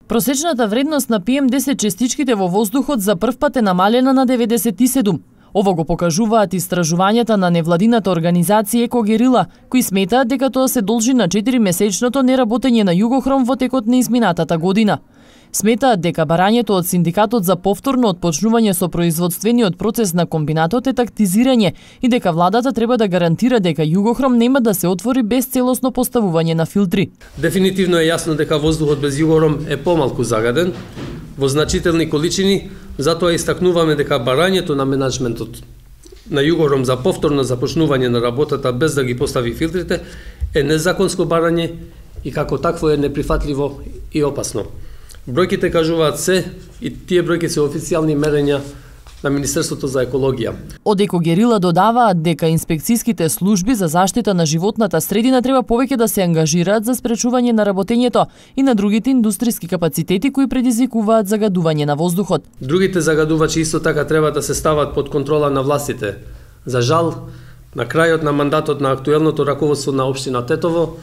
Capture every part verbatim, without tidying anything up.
Просечната вредност на пи ем десет честичките во воздухот за прв пат е намалена на деветдесет и седум. Ово го покажуваат истражувањата на невладината организација Екогерила, кои сметаат дека тоа се должи на четиримесечното неработење на Југохром во текот на изминатата година. Сметаат дека барањето од синдикатот за повторно отпочнување со производствениот процес на комбинатот е тактизирање и дека владата треба да гарантира дека Југохром нема да се отвори без целосно поставување на филтри. Дефинитивно е јасно дека воздухот без Југохром е помалку загаден во значителни количини, затоа истакнуваме дека барањето на менаџментот на Југохром за повторно започнување на работата без да ги постави филтрите е незаконско барање и како такво е неприфатливо и опасно. Бројките кажуваат се и тие бројки се официјални мерења на Министерството за екологија. Од Екогерила додаваат дека инспекцијските служби за заштита на животната средина треба повеќе да се ангажираат за спречување на работењето и на другите индустријски капацитети кои предизвикуваат загадување на воздухот. Другите загадувачи исто така треба да се стават под контрола на властите. За жал, на крајот на мандатот на актуелното раководство на општина Тетово,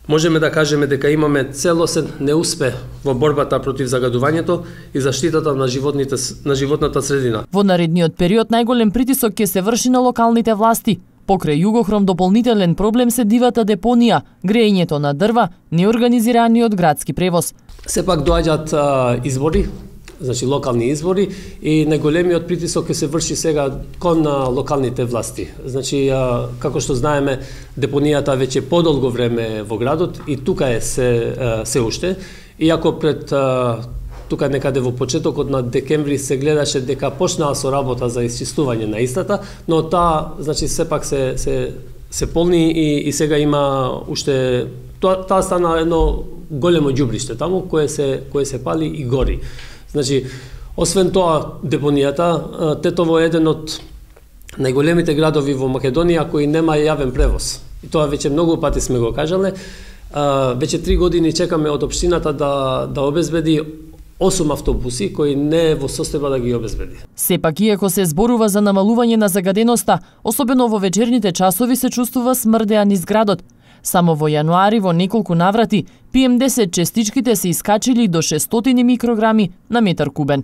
можеме да кажеме дека имаме целосен неуспех во борбата против загадувањето и заштитата на животните на животната средина. Во наредниот период најголем притисок ќе се врши на локалните власти. Покрај Југохром дополнителен проблем се дивата депонија, греењето на дрва, неорганизираниот градски превоз. Сепак доаѓаат а, избори, значи локални избори, и најголемиот притисок ќе се врши сега кон на локалните власти. Значи, а, како што знаеме, депонијата веќе подолго време во градот и тука е се, а, се уште. Иако пред а, тука некаде во почетокот на декември се гледаше дека почнаа со работа за исчистување на истата, но таа, значи, сепак се се се полни и, и сега има уште тоа, таа стана едно големо ѓубриште таму кое се кое се пали и гори. Значи, освен тоа, депонијата, Тетово е еден од најголемите градови во Македонија кои нема јавен превоз. И тоа веќе многу пати сме го кажале. Веќе три години чекаме од општината да, да обезбеди осум автобуси кои не е во состојба да ги обезбеди. Сепак, иако се зборува за намалување на загаденоста, особено во вечерните часови се чувствува смрдеа низ градот. Само во јануари во неколку наврати пи ем десет честичките се искачили до шестстотини микрограми на метар кубен.